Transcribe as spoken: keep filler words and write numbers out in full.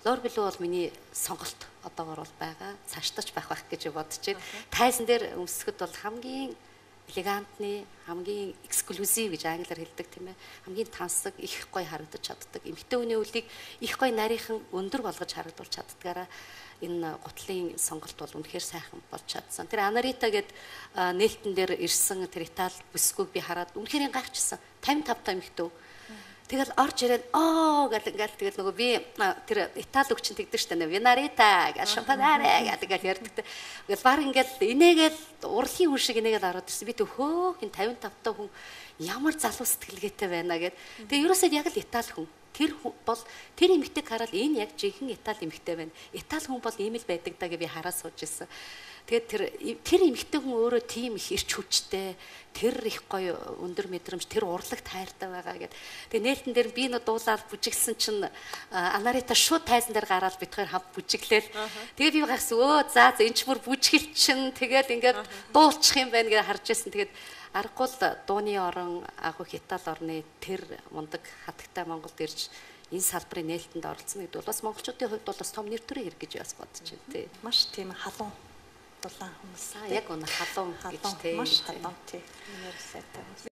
Лор Блу бол миний сонголт одоогор бол байгаа. Цаашдаач байх байх гэж бодож байна. Тайзан дээр өмсөхөд бол хамгийн элегантны, хамгийн эксклюзив гэж англиар хэлдэг тийм ээ. Хамгийн тансаг, их гоё харагдаж чаддаг. Эмэгтэй хүний үлийг их гоё нарийнхан өндөр болгож харагдуулж чаддгаараа энэ гутлын сонголт бол үнэхээр сайхан болж чадсан. Тэр Анарита гээд нээлтэн дээр ирсэн тэр Итали бүсгүйг би хараад үнэхээр гайхчихсан. тавин тав та эмэгтэй. Тэгэл орж ирээд оо гэл ингээл тэгэл нөгөө би тэр Итали өгчин тэгдэг штэ нэ Винарита гэж шампанаре гэдэг ярьдаг. Тэгэл баг ингээл инээгээл урлагийн хүн шиг инээгээл ороод ирсэн. Би төхөө хин тавин тав та хүн ямар залуу сэтгэлгээтэй байна гэд. Тэгээ ерөөсөө яг л Итали хүн. Тэр бол тэр эмэгтэйг хараад энэ яг жинхэнэ Итали эмэгтэй байна. Итали хүн бол ийм л байдаг даа гэж би хараа сууж ирсэн. Тэгээд тэр тэр эмэгтэй хүн өөрөө тийм их ирч хүчтэй, тэр их гоё өндөр мэдрэмж, тэр урлаг тайртай байгаа гэд. Тэгээд нээлтэн дээр би нөө дуулаад бүжиглсэн чинь Анарита шууд тайзан дээр гараад бид хоёр хав бүжиглээл. Тэгээд би гайхсан өө за за энэ ч бүр бүжгэл чин тэгээд ингээд дуулчих юм байна гэж харж байсан. Тэгээд аргагүй л дууны орон агуу Итали орны тэр мундаг хатагтай Монголд ирж энэ салбарын нээлтэнд оролцсон гэдэг бол бас монголчуудын хувьд бол бас том нэр төрийн хэрэг гэж бас бодож байна тий. Маш тийм халуун дулаан хүмүүс. Яг үнэ халуун гэж тий. Маш халуун тий. Нэр сайтай.